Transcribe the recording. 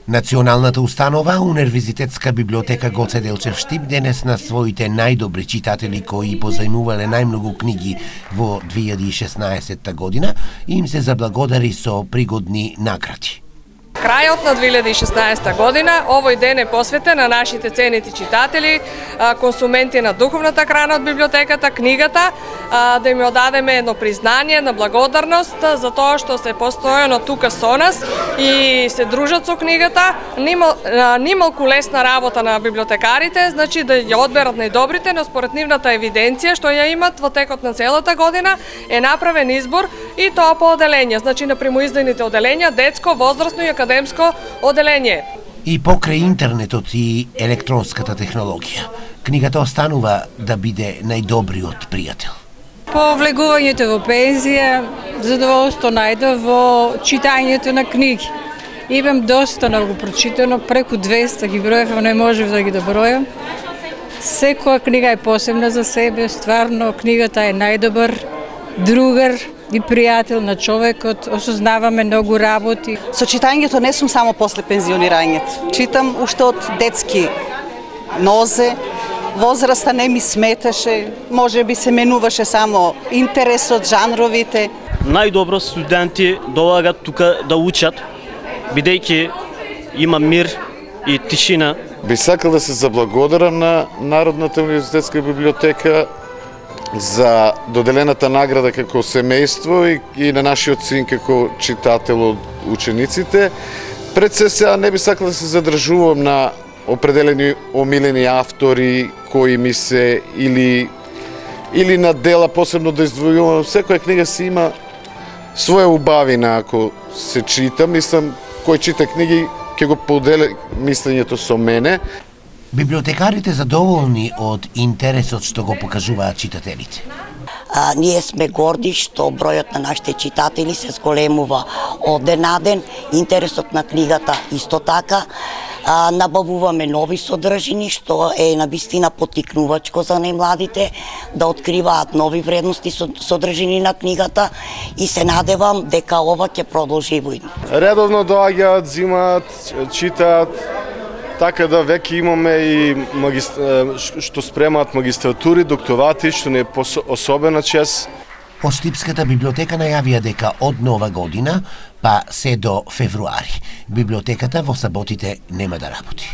Националната установа Универзитетска библиотека Гоце Делчев Штип денес на своите најдобри читатели кои позајмувале најмногу книги во 2016 година им се заблагодари со пригодни награди. Крајот на 2016 година, овој ден е посветен на нашите ценити читатели, консументи на духовната храна од библиотеката, книгата, да им одадеме едно признание на благодарност за тоа што се постојано тука со нас и се дружат со книгата. Нималку лесна работа на библиотекарите, значи да ја одберат најдобрите, но според нивната евиденција што ја имат во текот на целата година е направен избор и тоа по оделенја, значи на примоиздадените оделенја, детско, возрастно и академско оделение. И покрај интернетот и електронската технологија, книгата останува да биде најдобриот пријател. По влегувањето во пензија, задоволство најдов во читањето на книги. Имам доста многу прочитано, преку 200 ги броев, не можев да ги добројам. Секоја книга е посебна за себе, стварно книгата е најдобар другар и пријател на човекот, осознаваме многу работи. Со читањето не сум само после пензионирањето. Читам уште од детски нозе, возраста не ми сметаше, може би се менуваше само интересот, жанровите. Најдобро студенти доаѓаат тука да учат, бидејќи има мир и тишина. Би сакал да се заблагодарам на Народната универзитетска библиотека за доделената награда како семејство и на нашиот син како читател од учениците. Пред се сега не би сакал да се задржувам на определени омилени автори кои ми се или на дела посебно да издвојувам. Секоја книга си има своја убавина ако се чита. Мислам, кој чита книги ќе го подели мислењето со мене. Библиотекарите задоволни од интересот што го покажуваат читателите. Ние сме горди што бројот на нашите читатели се зголемува од ден на ден, интересот на книгата исто така. Набавуваме нови содржини, што е навистина поттикнувачко за најмладите да откриваат нови вредности содржини на книгата и се надевам дека ова ќе продолжи војно. Редовно доаѓаат, зимаат, читаат, така да веќе имаме и што спремаат магистратури, докторати, што не е особена чест. Од Штипската библиотека најавија дека од нова година па се до февруари библиотеката во саботите нема да работи.